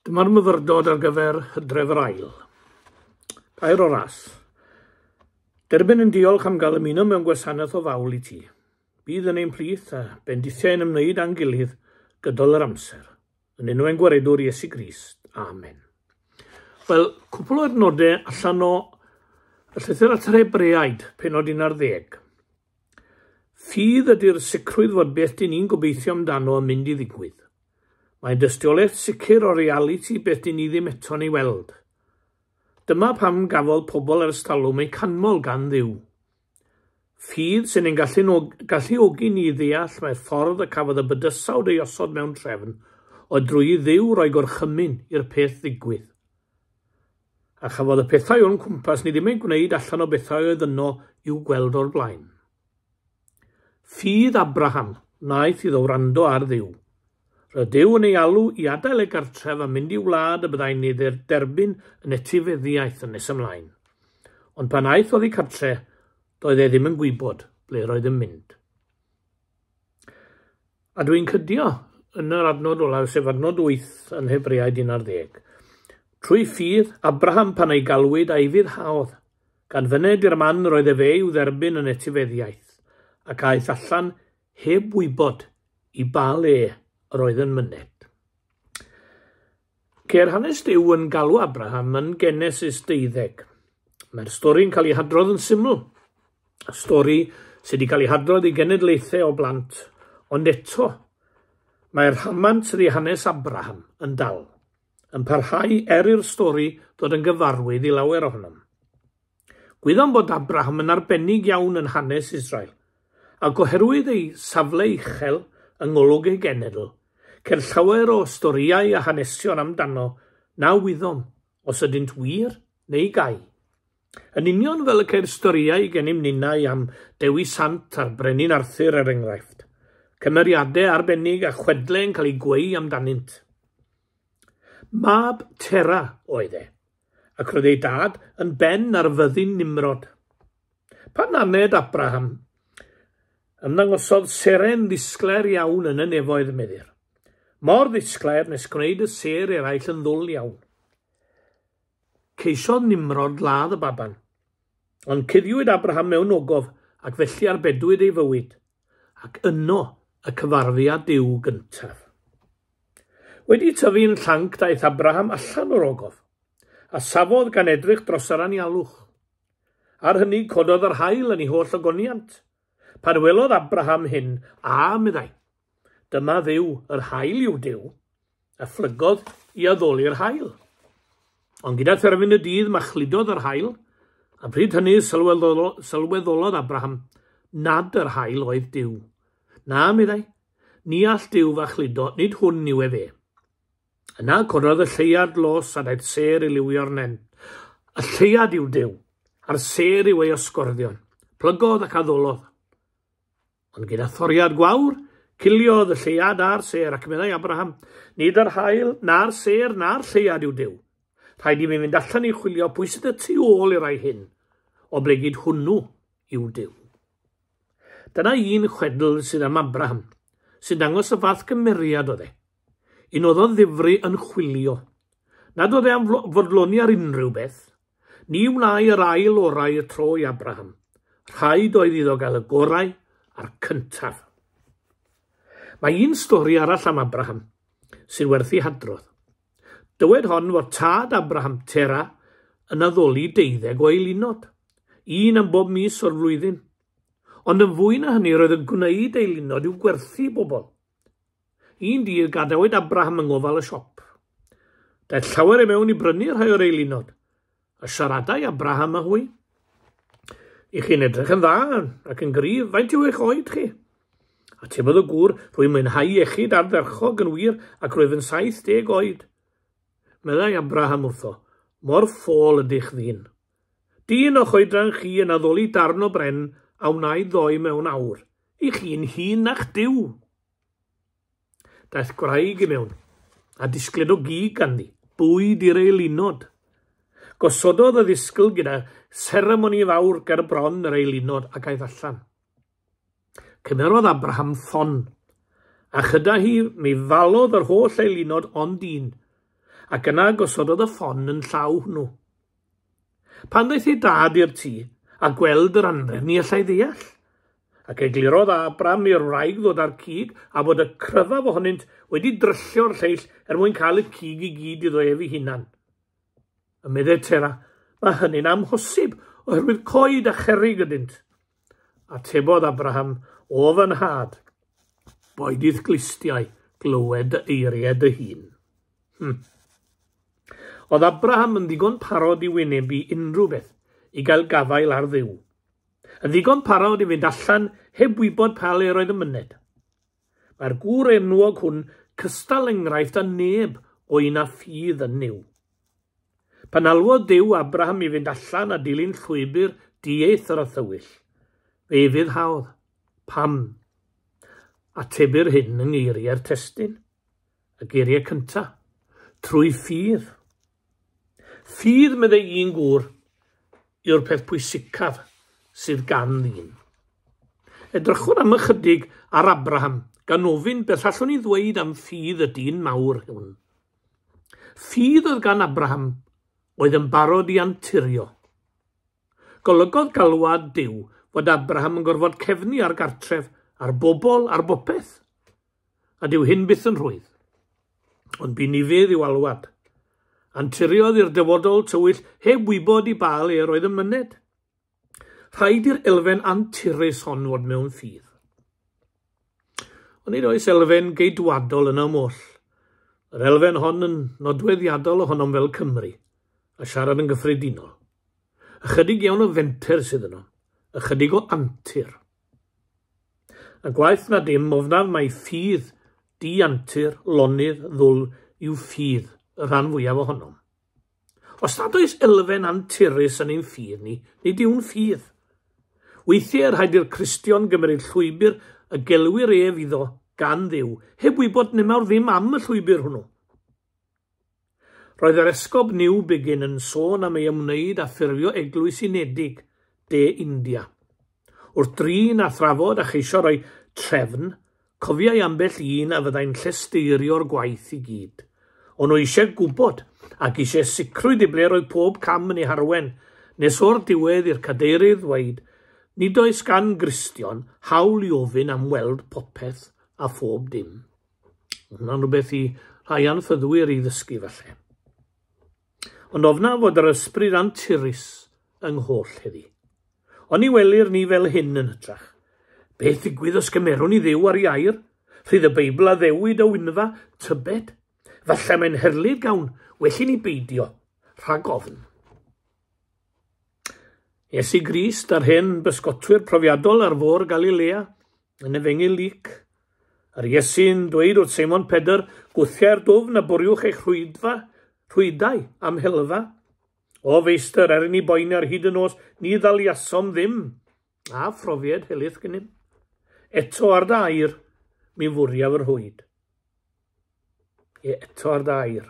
Dyma'r myfyrdod ar gyfer Hydref yr Ail. Gair o ras. Derbyn yn diolch am gael ymuno mewn gwasanaeth o fawl i ti. Bydd yn ein plith a bendithiau yn ymwneud â'n gilydd gydol yr amser. Yn enw ein Gwaredwr Iesu Grist. Amen. Wel, cwpl o adnodau allan o y llythyr at yr Hebreaid, penod 11. Ffydd ydy'r sicrwydd fod beth dyn ni'n gobeithio amdano yn mynd i ddigwydd. Mae'n dystiolaeth sicr o realiti beth dyn ni ddim eto'n ei weld. Dyma pam gafodd pobl ers talwm eu canmol gan Dduw. Ffydd sy'n ein galluogi ni i ddeall mai'r ffordd y cafodd y bydysawd ei osod mewn trefn oedd drwy i Dduw roi gorchymyn i'r peth ddigwydd. A chafodd y pethau o'n cwmpas ni ddim eu gwneud allan o bethau oedd yno i'w gweld o'r blaen. Ffydd Abraham wnaeth iddo wrando ar Dduw. Roedd Duw yn ei alw i adael ei gartref a mynd i wlad y byddai'n ei dderbyn yn etifeddiaeth yn nes ymlaen. Ond pan aeth oddi cartre, doedd e ddim yn gwybod ble roedd yn mynd. A dwi'n cydio yn yr adnod olaf, sef adnod 8 yn Hebreaid 11. Trwy ffydd, Abraham pan ei galwyd a'i fuddhaodd, gan fyned i'r man yr oedd efe i'w dderbyn yn etifeddiaeth, ac aeth allan heb wybod i ba le yr oedd yn myned. Ceir hanes Duw yn galw Abraham yn Genesis 12. Mae'r stori'n cael ei hadrodd yn syml. Stori sydd wedi cael ei hadrodd i genedlaethau o blant, ond eto, mae'r rhamant sydd i hanes Abraham yn dal, yn parhau er i'r stori ddod yn gyfarwydd i lawer ohonom. Gwyddom bod Abraham yn arbennig iawn yn hanes Israel, ac oherwydd ei safle uchel yng ngolwg ei genedl, ceir llawer o storïau a hanesion amdano na wyddom os ydynt wir neu gau. Yn union fel y ceir storïau gennym ninnau am Dewi Sant a'r Brenin Arthur er enghraifft, cymeriadau arbennig a chwedlau yn cael eu gweu amdanynt. Mab Tera oedd e, ac roedd ei dad yn ben ar fyddin Nimrod. Pan aned Abraham, ymddangosodd seren ddisglair iawn yn y nefoedd, meddir. Mor ddisglair nes gwneud y sêr eraill yn ddwl iawn. Ceisiodd Nimrod ladd y baban, ond cuddiwyd Abraham mewn ogof ac felly arbedwyd ei fywyd, ac yno y cyfarfu â Duw gyntaf. Wedi tyfu'n llanc daeth Abraham allan o'r ogof, a safodd gan edrych dros yr anialwch. Ar hynny cododd yr haul yn ei holl ogoniant. Pan welodd Abraham hyn, a, meddai, dyma Dduw, yr haul yw Duw, a phlygodd i addoli'r haul. Ond gyda therfyn y dydd machludodd yr haul, a pryd hynny sylweddolodd Abraham nad yr haul oedd Duw. Na, meddai, ni all Duw fachludo, nid hwn yw efe. Yna cododd y lleuad los a daeth sêr i liwio'r nen. Y lleuad yw Duw, a'r sêr yw ei osgorddion. Plygodd ac addolodd. Ond gyda thoriad gwawr, ciliodd y lleuad a'r sêr, ac meddai Abraham, nid yr haul, na'r sêr, na'r lleuad yw Duw. Rhaid i mi fynd allan i chwilio pwy sydd y tu ôl i'r rhai hyn, oblegid hwnnw yw Duw. Dyna un chwedl sydd am Abraham, sy'n dangos y fath gymeriad oedd e. Un oedd o ddifri yn chwilio. Nad oedd e am fodloni ar unrhyw beth. Ni wnâi yr ail orau y tro i Abraham. Rhaid oedd iddo gael y gorau a'r cyntaf. Mae un stori arall am Abraham sy'n werth ei hadrodd. Dywed hon fod tad Abraham, Tera, yn addoli deuddeg o eilunod, un am bob mis o'r flwyddyn. Ond yn fwy na hynny roedd yn gwneud eilunod i'w gwerthu i bobl. Un dydd gadawyd Abraham yng ngofal y siop. Daeth llawer i mewn i brynu rhai o'r eilunod, a siaradai Abraham â hwy. I chi'n edrych yn dda ac yn gryf, faint yw eich oed chi? Atebodd y gŵr, rwy'n mwynhau iechyd ardderchog yn wir ac rwyf yn 70 oed. Meddai Abraham wrtho, mor ffôl ydych ddyn. Dyn o'ch oedran chi yn addoli darn o bren a wnaed ddoe mewn awr. I chi'n hŷn na'ch Duw. Daeth gwraig i mewn, a disgled o gig ganddi, bwyd i'r eilunod. Gosododd y ddisgl gyda seremoni fawr ger bron yr eilunod ac aeth allan. Cymerodd Abraham ffon, a chyda hi mi falodd yr holl eilunod ond un, Ac yna gosododd y ffon yn llaw hwnnw. Pan ddaeth ei dad i'r tŷ a gweld yr anrhefn, ni allai ddeall. Ac eglurodd Abram i'r wraig ddod â'r cig a bod y cryfaf ohonynt wedi dryllio'r lleill er mwyn cael y cig i gyd iddo ef ei hunan. Y meddai Tera, mae hynny'n amhosib oherwydd coed a cherrig ydynt. Atebodd Abraham, o fy nhad, boed i'th glustiau glywed dy eiriau dy hun. Oedd Abraham yn ddigon parod i wynebu unrhyw beth i gael gafael ar Dduw. Yn ddigon parod i fynd allan heb wybod pa le roedd yn myned. Mae'r gŵr enwog hwn cystal enghraifft â neb o un â ffydd yn Nuw. Pan alwodd Duw Abraham i fynd allan a dilyn llwybr dieithr a thywyll, fe ufuddhaodd. Pam? Atebir hyn yng ngeiriau'r testun, y geiriau cyntaf, trwy ffydd. Ffydd, meddai un gŵr, yw'r peth pwysicaf sydd gan ddyn. Edrychwn am ychydig ar Abraham, gan ofyn beth allwn ni ddweud am ffydd y dyn mawr hwn. Ffydd oedd gan Abraham oedd yn barod i anturio. Golygodd galwad Duw fod Abraham yn gorfod cefnu ar gartref, ar bobl, ar bopeth. A dyw hyn byth yn rhwydd. Ond bu ufudd i'w alwad. Anturiodd i'r dyfodol tywyll heb wybod i ba le yr oedd yn myned. Rhaid i'r elfen anturus hon fod mewn ffydd. Ond nid oes elfen geidwadol yn oll. Yr elfen hon yn nodweddiadol ohonom fel Cymry, a siarad yn gyffredinol. Ychydig iawn o fenter sydd yno, ychydig o antur. A gwaeth na dim, ofnaf mai ffydd di-antur, lonydd, ddwl yw ffydd y rhan fwyaf ohonom. Os nad oes elfen anturus yn ein ffydd ni, nid yw'n ffydd. Weithiau rhaid i'r Cristion gymryd llwybr y gelwir ef iddo gan Dduw, heb wybod nemawr ddim am y llwybr hwnnw. Roedd yr esgob Newbigin yn sôn am ei ymwneud â ffurfio eglwys unedig De India. Wrth drin a thrafod a cheisio rhoi trefn, cofiai ambell un a fyddai'n llesteirio'r gwaith i gyd. O'n nhw eisiau gwybod ac eisiau sicrwydd i ble roedd pob cam yn ei harwen, nes o'r diwedd i'r cadeirydd ddweud, nid oes gan Gristion hawl i ofyn am weld popeth a phob dim. Hwnna'n rhywbeth i rhai anffyddwyr i ddysgu falle. Ond ofna fod yr ysbryd anturus yng ngholl heddi. Ond ni welir ni fel hyn yn hytrach. Beth ddigwydd os gymerwn i Dduw ar ei air? Rhydd y Beibl addewid o wynfa, tybed? Falle mae'n herlid gawn, well i ni beidio, rhag ofn. Iesu Grist a'r hen bysgotwyr profiadol ar fôr Galilea yn Efengyl Luc. A'r Iesu'n dweud wrth Seimon Pedr, gwthiau'r dwfn a bwriwch eich rhwydau am helfa. O feistr, er i ni boeni ar hyd y nos, ni ddaliasom ddim, a phrofiad helaeth gennym. Eto ar dy air, mi fwriaf yr rhwyd. Ie, eto ar dy air.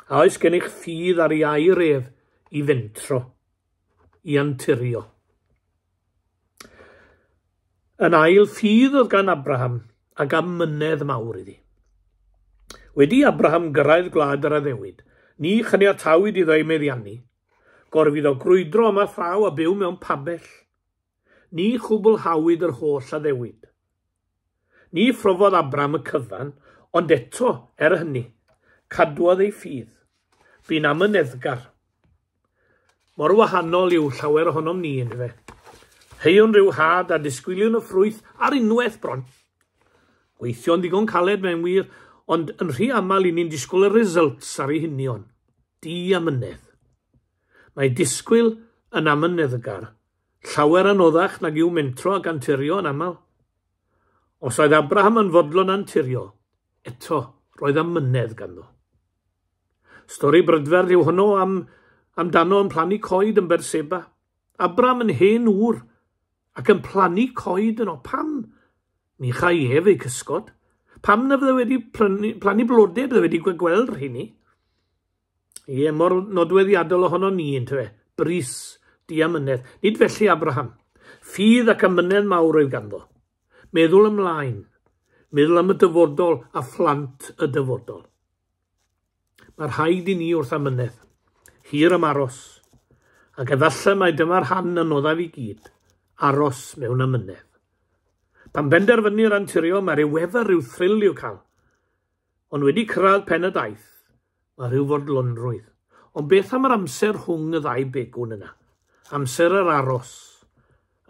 A oes gennych ffydd ar ei air ef i fentro, i anturio? Yn ail, ffydd oedd gan Abraham ac amynedd mawr iddi. Wedi Abraham gyrraedd gwlad yr addewid, ni chaniatawyd iddo ei meddiannu. Gorfu iddo grwydro yma thraw a byw mewn pabell. Ni chwblhawyd yr holl addewid. Ni phrofodd Abraham y cyfan, ond eto, er hynny, cadwodd ei ffydd. Bu'n amyneddgar. Mor wahanol yw llawer ohonom ni, yndyfe. Heiwn rhyw had a disgwyliwn y ffrwyth ar unwaith bron. Gweithio'n ddigon caled mewn wir, ond yn rhy aml i ni'n disgwyl y results ar ei hunion. Di-amynedd. Mae disgwyl yn amyneddgar, llawer anoddach nag yw mentro ac anturio yn aml. Os oedd Abraham yn fodlon anturio, eto roedd amynedd ganddo. Stori brydferth yw honno amdano yn plannu coed yn Berseba. Abraham yn hen ŵr ac yn plannu coed yno. Pam? Ni chai ef ei cysgod. Pam na fydde wedi plannu blodau, bydde wedi gweld rheini? Ie, mor nodweddiadol ohono ni, yntyfe? Brys, diamynedd. Nid felly Abraham. Ffydd ac amynedd mawr oedd ganddo. Meddwl ymlaen. Meddwl am y dyfodol a phlant y dyfodol. Mae rhaid i ni wrth amynedd, hir am aros, ac efallai mai dyma'r rhan anoddaf i gyd, aros mewn amynedd. Pan benderfynir anturio, mae rhyw wefr, rhyw thrill i'w cael. Ond wedi cyrraedd pen y daith, mae rhyw fodlonrwydd. Ond beth am yr amser rhwng y ddau begwn yna? Amser yr aros,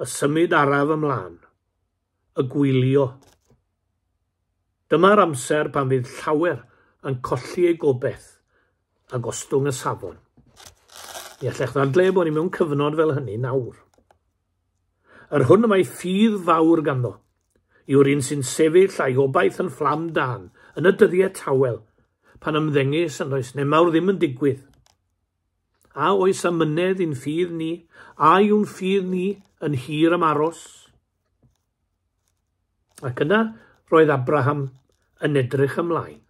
y symud araf ymlaen, y gwylio. Dyma'r amser pan fydd llawer yn colli eu gobaith a gostwng y safon. Mi allech ddadlau bod ni mewn cyfnod fel hynny nawr. Yr hwn y mae ffydd fawr ganddo yw'r un sy'n sefyll a'i obaith yn fflam dân yn y dyddiau tawel, pan ymddengys yn does nemawr ddim yn digwydd. A oes amynedd i'n ffydd ni, a yw'n ffydd ni yn hir am aros? Ac yna roedd Abraham yn edrych ymlaen.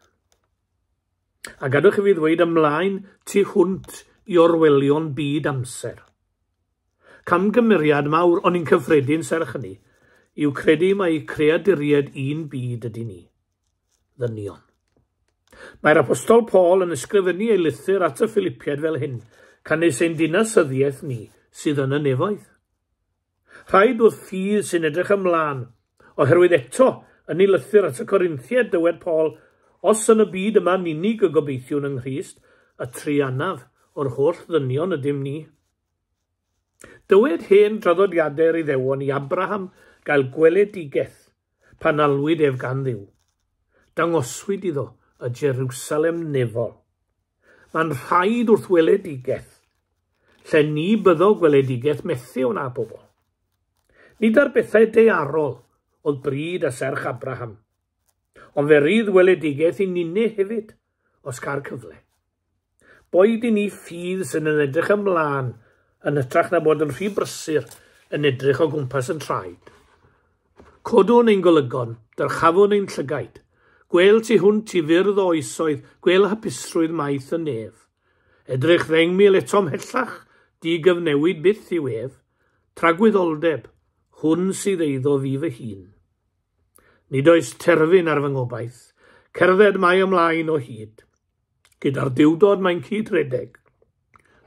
A gadwch i fi ddweud ymlaen tu hwnt i orwelion byd amser. Camgymeriad mawr, ond un cyffredin serch hynny, yw credu mai creaduriaid un byd ydy ni, ddynion. Mae'r Apostol Paul yn ysgrifennu ei lythyr at y Philipiaid fel hyn, canys ein dinasyddiaeth ni sydd yn y nefoedd. Rhaid wrth ffydd sy'n edrych ymlaen, oherwydd eto, yn ei lythyr at y Corinthiaid, dywed Paul, os yn y byd yma'n unig y gobeithiwn yng Nghrist, y truanaf o'r holl ddynion ydym ni. Dywed hen draddodiadau'r Iddewon i Abraham gael gweledigaeth pan alwyd ef gan Dduw. Dangoswyd iddo y Jerusalem nefol. Mae'n rhaid wrth weledigaeth, lle ni byddo gweledigaeth methu wna bobl. Nid ar bethau daearol oedd bryd a serch Abraham, ond fe rydd weledigaeth i ninne hefyd, os ca'r cyfle. Boed i ni ffydd sy'n yn edrych ymlaen yn hytrach na bod yn rhy brysur yn edrych o gwmpas yn traed. Codwn ein golygon, dyrchafwn ein llygaid, gwel tu hwnt i fyrdd o oesoedd, gwel hapusrwydd maith y nef. Edrych 10,000 eto ymhellach, digyfnewid byth yw ef, tragwyddoldeb, hwn sydd eiddo fi fy hun. Nid oes terfyn ar fy ngobaith, cerdded mae ymlaen o hyd. Gyda'r Duwdod mae'n cyd-redeg,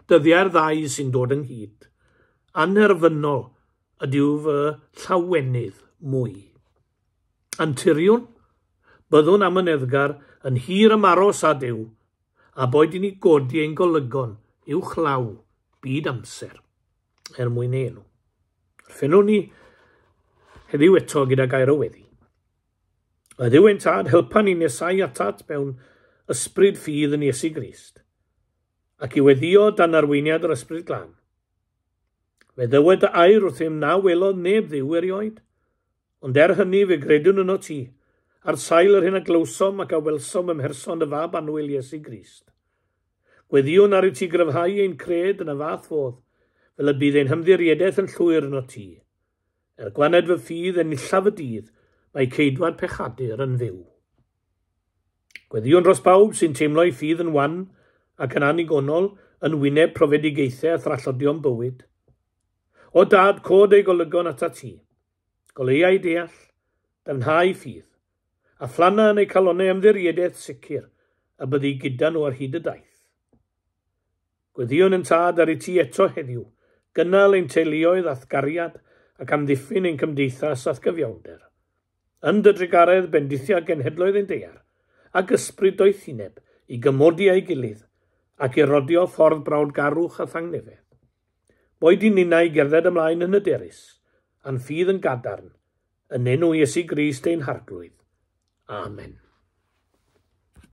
dyddiau'r ddau sy'n dod ynghyd. Anherfynol ydyw fy llawenydd mwy. Anturiwn, byddwn amyneddgar yn hir ymaros â Duw, a boed i ni godi ein golygon uwchlaw byd amser, er mwyn ei enw. Orffennwn ni heddiw eto gyda gair o weddi. Y Dduw ein Tad, helpa ni nesau atat mewn ysbryd ffydd yn Iesu Grist, ac i weddio dan arweiniad yr Ysbryd Glân. Fe ddywed dy air wrthym na welodd neb Dduw erioed, ond er hynny fe gredwn yno ti, ar sail yr hyn a glywsom ac a welsom ym mherson dy Fab annwyl Iesu Grist. Gweddïwn ar i ti gryfhau ein cred yn y fath fodd, fel y bydd ein hymddiriedaeth yn llwyr yno ti. Er gwaned fy ffydd enillaf y dydd, mae ceidwad pechadur yn fyw. Gweddïwn dros bawb sy'n teimlo'i ffydd yn wan ac yn annigonol yn wyneb profedigaethau a thrallodion bywyd. O Dad, cod ei golygon atat ti. Goleuai deall, dyfnhau ffydd, a phlanna yn eu calonnau ymddiriedaeth sicr y byddi gyda nhw ar hyd y daith. Gweddïwn yn Tad ar i ti eto heddiw, gynnal ein teuluoedd a'th gariad ac amddiffyn ein cymdeithas a'th gyfiawnder. Yn dy drugaredd bendithia genhedloedd ein daear, ac ysbryd doethineb i gymodi â'i gilydd ac i rodio ffordd brawdgarwch a thangnefedd. Boed i ninnau gerdded ymlaen yn hyderus, a'n ffydd yn gadarn, yn enw Iesu Grist ein Harglwydd. Amen.